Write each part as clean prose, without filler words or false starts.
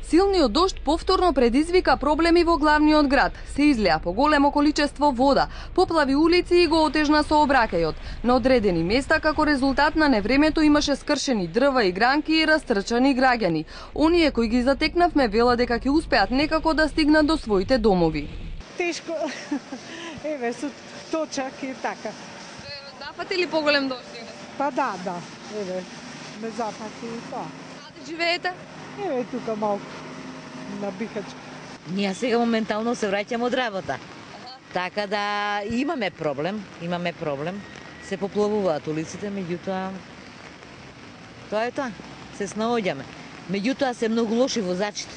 Силниот дожд повторно предизвика проблеми во главниот град. Се излеа поголемо количество вода, поплави улици и го отежна сообраќајот. На одредени места како резултат на невремето имаше скршени дрва и гранки и растрчани граѓани. Оние кои ги затекнавме велат дека ќе успеат некако да стигнат до своите домови. Тешко. Еве со точак и така. Запати ли поголем дожд? Па да. Еве, ме запати и тоа. Каде живеете? Еве тука малку на Бихачка. Ние сега моментално се враќаме од работа. Така да имаме проблем. Се поплавуваат улиците, меѓутоа тоа е тоа. Се снаоѓаме. Меѓутоа се многу лоши возачите.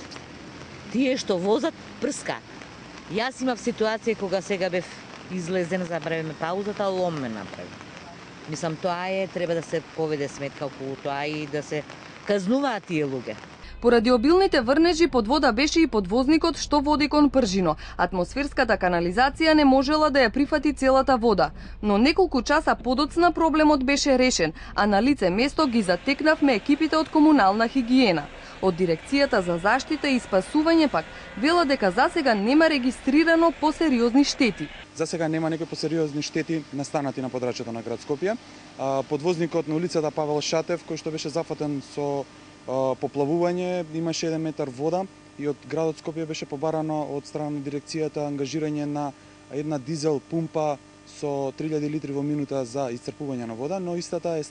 Тие што возат прска. Јас имав ситуација кога сега бев излезен за време паузата, лом ме направи. Мислам, тоа е, треба да се поведе сметка околу тоа и да се казнуваат тие луѓе. Поради обилните врнежи под вода беше и подвозникот што води кон Пржино. Атмосферската канализација не можела да ја прифати целата вода, но неколку часа подоцна проблемот беше решен, а на лице место ги затекнавме екипите од комунална хигиена. Од Дирекцијата за заштита и спасување пак вела дека засега нема регистрирано посериозни штети. Засега нема некои посериозни штети настанати на подрачјето на град Скопје. Подвозникот на улицата Павел Шатев, кој што беше зафатен со поплавување, имаше 1 метар вода и од градот Скопје беше побарано од страна на дирекцијата ангажирање на една дизел пумпа со 3000 литри во минута за исцрпување на вода, но истата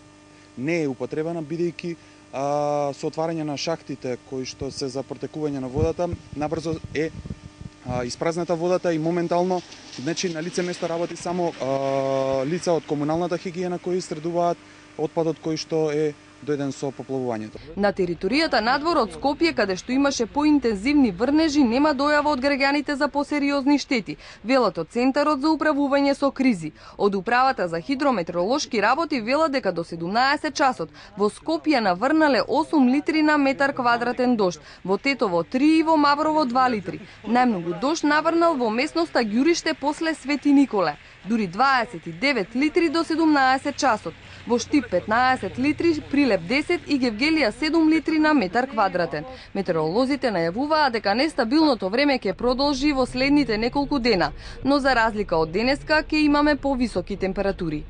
не е употребена бидејќи со отварање на шахтите кои што се за протекување на водата, набрзо е испразната водата и моментално значи на лице место работи само лица од комуналната хигиена кои истредуваат отпадот кој што е дојден со поплавувањето. На територијата надвор од Скопје, каде што имаше поинтензивни врнежи, нема дојава од граѓаните за посериозни штети, велат од Центарот за управување со кризи. Од Управата за хидрометеоролошки работи велат дека до 17 часот во Скопје наврнале 8 литри на метар квадратен дожд, во Тетово 3 и во Маврово 2 литри. Најмногу дожд наврнал во местноста Ѓуриште после Свети Николе, дури 29 литри до 17 часот. Во Штип 15 литри, Прилеп 10 и Гевгелија 7 литри на метар квадратен. Метеоролозите најавуваат дека нестабилното време ќе продолжи во следните неколку дена, но за разлика од денеска ќе имаме повисоки температури.